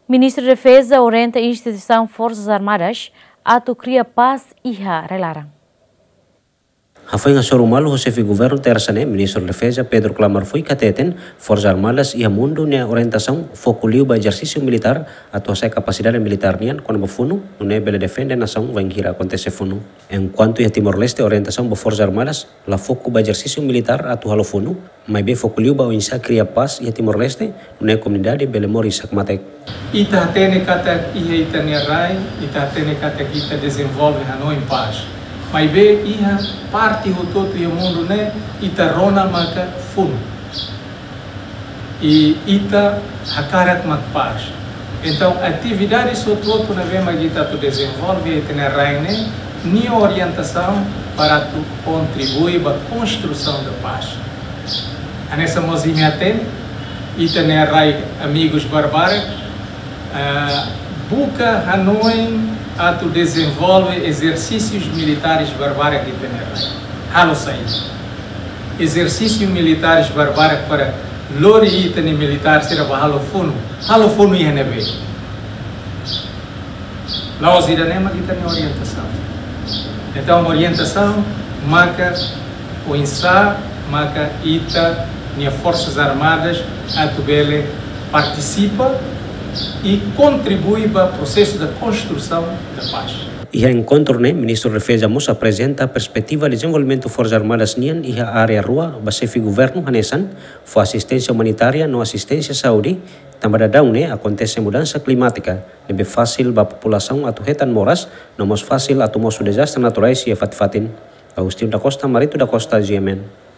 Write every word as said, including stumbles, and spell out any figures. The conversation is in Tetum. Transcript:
Ministru Defeza orienta instituisaun Forsas Armadas atu kria pás iha rai-laran. Hafoin hasoru malu ho xefe governu Tersa ne'e, Ministru Defeza Pedro Klamar Fuik hateten, Forsas Armadas iha mundu nia orientasaun foku liu ba ezersísiu militár atu hasa'e kapasidade militár nian kona-ba funu, nune'e bele defende nasaun bainhira akontese funu. Enkuantu iha Timor-Leste orientasaun ba Forsas Armadas la foku ba ezersísiu militár atu halo funu, maibé foku liu ba oinsá kria pás iha Timor-Leste, nune'e komunidade bele moris hakmatek. Ita hatene katak iha ita-nia rai, ita hatene katak ita dezenvolve hanoin pás. Maibé iha parte hotu-hotu iha mundu ne'e, ita rona maka funu. I ita hakarak mak pás. Entaun, atividades hotu-hotu ne'ebé mak ita atu dezenvolve iha ita-nia rai ne'e, nia orientasaun para atu kontribui ba konstrusaun da pás. Hanesan mós imi hatene, ita-nia rai amigus barbarak, ah, buka hanoin atu dezenvolve ezersísius militares barbarak iha ita-nia rai. Halo saida? Ezersísiu militares barbarak para lori ita-nia militár sira ba halo funu. Halo funu iha ne'ebé? La'ós ida-ne'e mak ita-nia orientasaun. Entaun, orientasaun maka oinsá maka ita-nia Forsas Armadas atu bele partisipa i kontribui ba prosesu da konstrusaun da pás. Iha enkontru ne'e, Ministru Defeza mós aprezenta perspetiva dezenvolvimentu Forsas Armadas nian iha área rua ba xefe governu hanesan fó asisténsia umanitária no asisténsia saúde, tanba daudaun ne'e akontese mudansa klimátika, ne'ebé fasil ba populasaun atu hetan moras, no mós fasil atu mosu dezastre naturais iha fatin-fatin. Agostinho da Costa, Marito da Costa, G M N.